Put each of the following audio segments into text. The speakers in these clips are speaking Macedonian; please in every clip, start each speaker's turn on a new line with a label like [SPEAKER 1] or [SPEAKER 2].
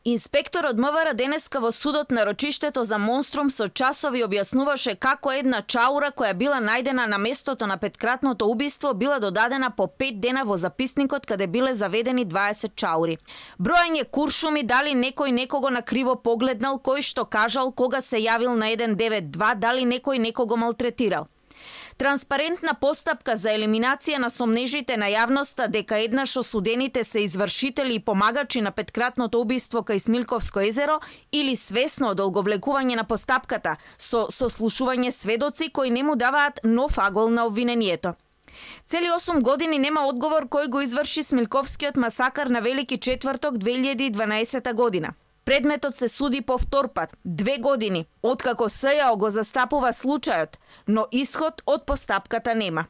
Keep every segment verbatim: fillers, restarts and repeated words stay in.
[SPEAKER 1] Инспекторот МВР денеска во судот на рочиштето за Монструм со часови објаснуваше како една чаура која била најдена на местото на петкратното убиство била додадена по пет дена во записникот каде биле заведени дваесет чаури. Бројање куршуми дали некој некого на криво погледнал, кој што кажал кога се јавил на еден девет два, дали некој некого малтретирал. Транспарентна постапка за елиминација на сомнежите на јавноста дека еднаш осудените се извршители и помагачи на петкратното убиство кај Смилковско езеро или свесно одолговлекување на постапката со сослушување сведоци кои не му даваат нов агол на обвинението. Цели осум години нема одговор кој го изврши Смилковскиот масакар на Велики четврток две илјади и дванаесета година. Предметот се суди по втор пат, две години, откако СЈО го застапува случајот, но исход од постапката нема.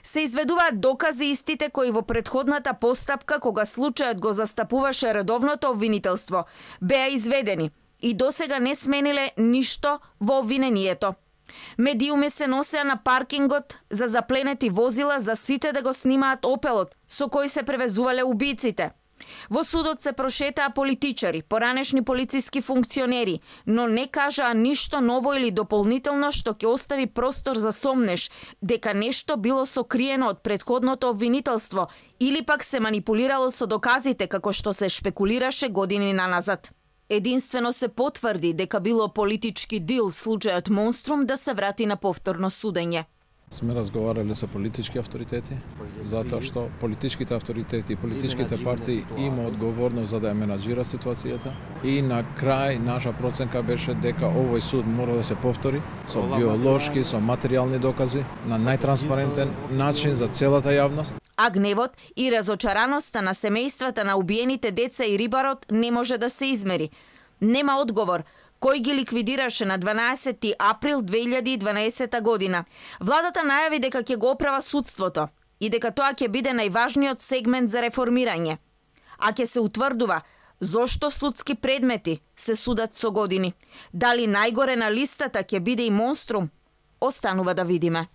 [SPEAKER 1] Се изведуваат докази истите кои во претходната постапка, кога случајот го застапуваше редовното обвинителство, беа изведени и досега не смениле ништо во обвинението. Медиуми се носеа на паркингот за запленети возила за сите да го снимаат опелот со кој се превезувале убиците. Во судот се прошетаа политичари, поранешни полициски функционери, но не кажаа ништо ново или дополнително што ќе остави простор за сомнеш дека нешто било сокриено од претходното обвинителство или пак се манипулирало со доказите како што се шпекулираше години наназад. Единствено се потврди дека било политички дил случајот Монструм да се врати на повторно судење.
[SPEAKER 2] Сме разговарали со политички авторитети, затоа што политичките авторитети и политичките партии има одговорност за да ја менаџира ситуацијата. И на крај наша проценка беше дека овој суд мора да се повтори со биолошки, со материјални докази, на најтранспарентен начин за целата јавност.
[SPEAKER 1] А гневот и разочараноста на семејствата на убиените деца и рибарот не може да се измери. Нема одговор кој ги ликвидираше на дванаесети април две илјади и дванаесета година. Владата најави дека ќе го оправа судството и дека тоа ќе биде најважниот сегмент за реформирање. А ќе се утврдува зошто судски предмети се судат со години. Дали најгоре на листата ќе биде и Монструм? Останува да видиме.